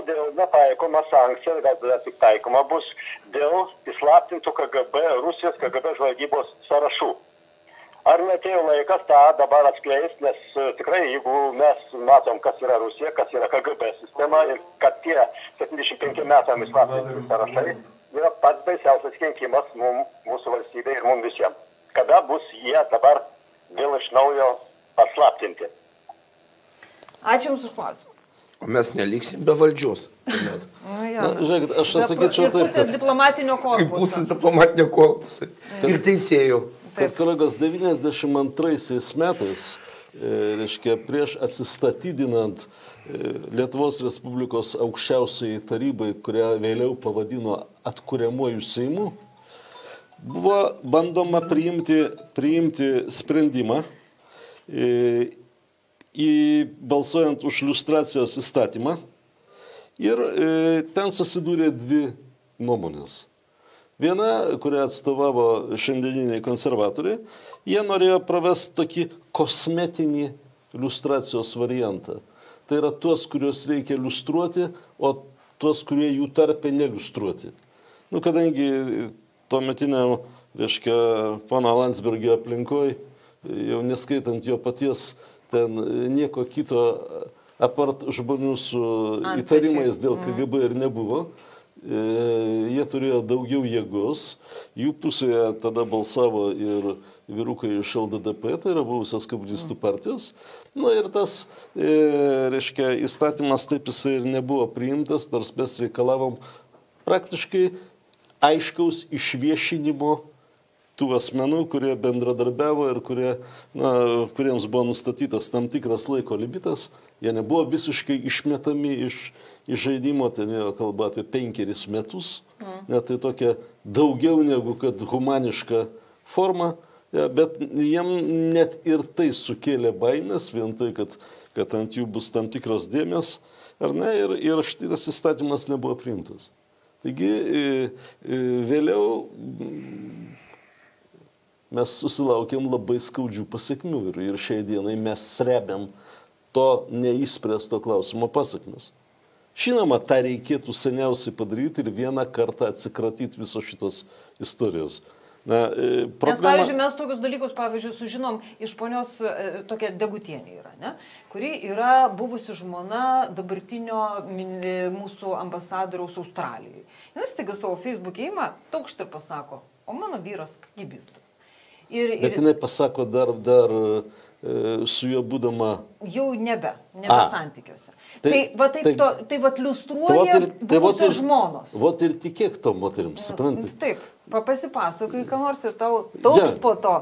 kodėl netaikoma sankcija, gal tik taikoma bus dėl įslaptintų KGB, Rusijos KGB žvalgybos sąrašų. Ar netėjo laikas tą dabar atskleisti, nes tikrai, jeigu mes matom, kas yra Rusija, kas yra KGB sistema ir kad tie 75 metam įslaptinti sąrašai yra pats baisiausias kenkimas mūsų valstybei ir mums visiems. Kada bus jie dabar vėl iš naujo paslaptinti? Ačiū Jums už klausimą. O mes neliksim be valdžios. Žiūrėkit, aš atsakyčiau taip. Ir pusės diplomatinio korpuso. Kaip pusės diplomatinio korpuso. Ir teisėjų. Kad kolegos 92 metais, reiškia, prieš atsistatydinant Lietuvos Respublikos aukščiausiai tarybai, kurią vėliau pavadino atkuriamuoju Seimu, buvo bandoma priimti sprendimą balsuojant už liustracijos įstatymą ir ten susidūrė dvi nuomonės. Viena, kurią atstovavo šiandieniniai konservatoriai, jie norėjo pravesti tokį kosmetinį liustracijos variantą. Tai yra tuos, kuriuos reikia liustruoti, o tuos, kurie jų tarpe neliustruoti. Kadangi tuometiniam, reiškia, pono Landsbergio aplinkoj, jau neskaitant jo paties, ten nieko kito apart žmonių su įtarimais dėl KGB ir nebuvo. Jie turėjo daugiau jėgos, jų pusėje tada balsavo ir vyrukai iš LDDP, tai yra buvusios komunistų partijos. Ir tas, reiškia, įstatymas taip jisai ir nebuvo priimtas, nors mes reikalavom praktiškai aiškaus išviešinimo tų asmenų, kurie bendradarbiavo ir kuriems buvo nustatytas tam tikras laiko limitas. Jie nebuvo visiškai išmetami iš žaidimo, ten jau kalba apie 5 metus. Net tai tokia daugiau negu kad humaniška forma, bet jiem net ir tai sukėlė baimės, vien tai, kad ant jų bus tam tikros dėmės, ar ne, ir šitas įstatymas nebuvo priimtas. Taigi vėliau mes susilaukėm labai skaudžių pasiekmių ir šiai dienai mes srebiam to neišspręsto klausimo pasakmes. Žinoma, tą reikėtų seniausiai padaryti ir vieną kartą atsikratyti visos šitos istorijos. Nes, pavyzdžiui, mes tokius dalykus, pavyzdžiui, sužinom iš ponios tokia Degutienė yra, ne? Kuri yra buvusi žmona dabartinio mūsų ambasadoriaus Australijoje. Jis staiga savo Facebook'e ima, taukšt ir pasako, o mano vyras kagybistas. Bet jinai pasako dar su juo būdama... Jau nebe santykiuose. Tai liustruoja buvusios žmonos. Vot ir tikėk to moterims, supranti? Taip, pasipasakai, ką nors ir tau taukšt po to.